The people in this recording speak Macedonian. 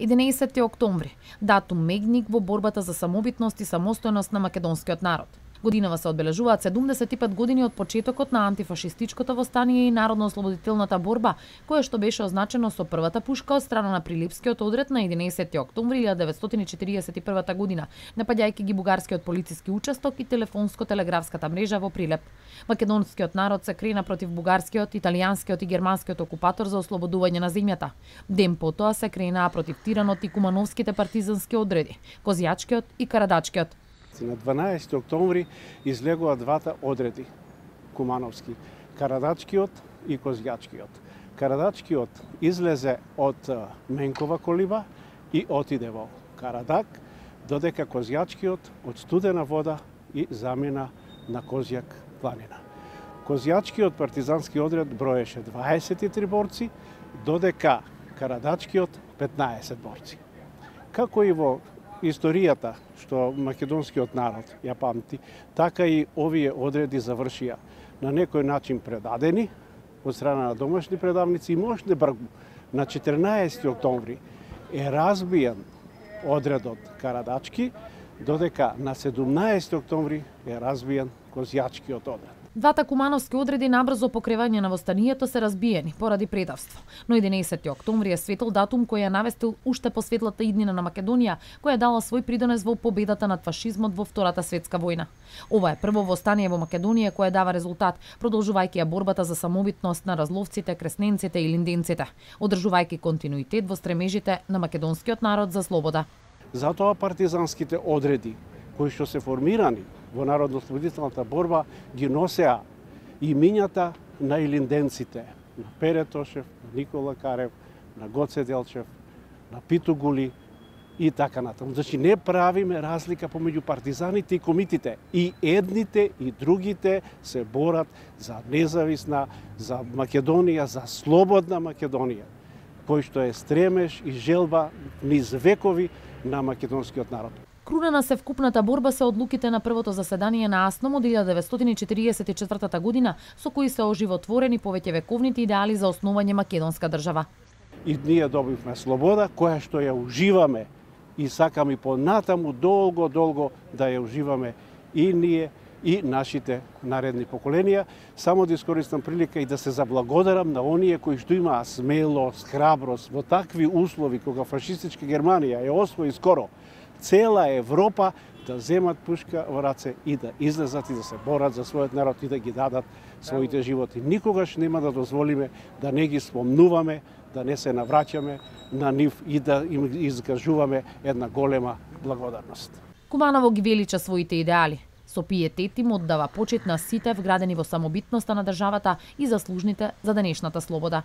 11 октомври, датум мегник во борбата за самобитност и самостојност на македонскиот народ. Годинава се одбележуваат 75 години од почетокот на антифашистичкото востание и народно-ослободителната борба, кое што беше означено со првата пушка од страна на Прилепскиот одред на 11 октомври 1941 година, напаѓајќи ги бугарскиот полициски участок и телефонско-телеграфската мрежа во Прилеп. Македонскиот народ се крена против бугарскиот, италијанскиот и германскиот окупатор за ослободување на земјата. Ден потоа се кренаа против Тиранот и кумановските партизански одреди, Козјачкиот и Карадачкиот. На 12 октомври излегува двата одреди кумановски, Карадачкиот и Козјачкиот. Карадачкиот излезе од Менкова колиба и отиде во Карадак, додека Козјачкиот од студена вода и замина на Козјак планина. Козјачкиот партизански одред броеше 23 борци, додека Карадачкиот 15 борци. Како и во историјата што македонскиот народ ја памти, така и овие одреди завршија на некој начин предадени од страна на домашни предавници и можне бргу. На 14 октомври е разбиен одредот Карадачки, додека на 17 октомври е разбиен Козјачкиот одред. Двата кумановски одреди набрзо по кревање на востанието се разбиени поради предавство. Но 11 октомври е светл датум кој ја навестил уште по светлата иднина на Македонија, која дала свој придонес во победата над фашизмот во Втората светска војна. Ова е прво востание во Македонија кое дава резултат, продолжувајќи ја борбата за самобитност на разловците, кресненците и линденците, одржувајќи континуитет во стремежите на македонскиот народ за слобода. Затоа партизанските одреди кои што се формирани во народно-ослободителната борба ги носеа имињата на илинденците, на Пере Тошев, на Никола Карев, на Гоце Делчев, на Питу Гули и така натаму. Значи не правиме разлика помеѓу партизаните и комитите. И едните и другите се борат за независна, за Македонија, за слободна Македонија, кој што е стремеж и желба низ векови на македонскиот народ. Крунена се вкупната борба се одлуките на првото заседание на АСНОМ од 1944 година, со кои се оживотворени повеќе вековните идеали за основање македонска држава. И ние добивме слобода, која што ја уживаме и сакаме понатаму долго да ја уживаме и ние и нашите наредни поколенија. Само да искористам прилика и да се заблагодарам на оние кои што имаа смелост, храброст во такви услови кога фашистичка Германија ја освои скоро цела Европа, да земат пушка во раце и да излезат и да се борат за својот народ и да ги дадат своите животи. Никогаш нема да дозволиме да не ги спомнуваме, да не се навраќаме на нив и да им изкажуваме една голема благодарност. Куманово ги велича своите идеали. Со пиетет им оддава почит на сите вградени во самобитноста на државата и заслужните за денешната слобода.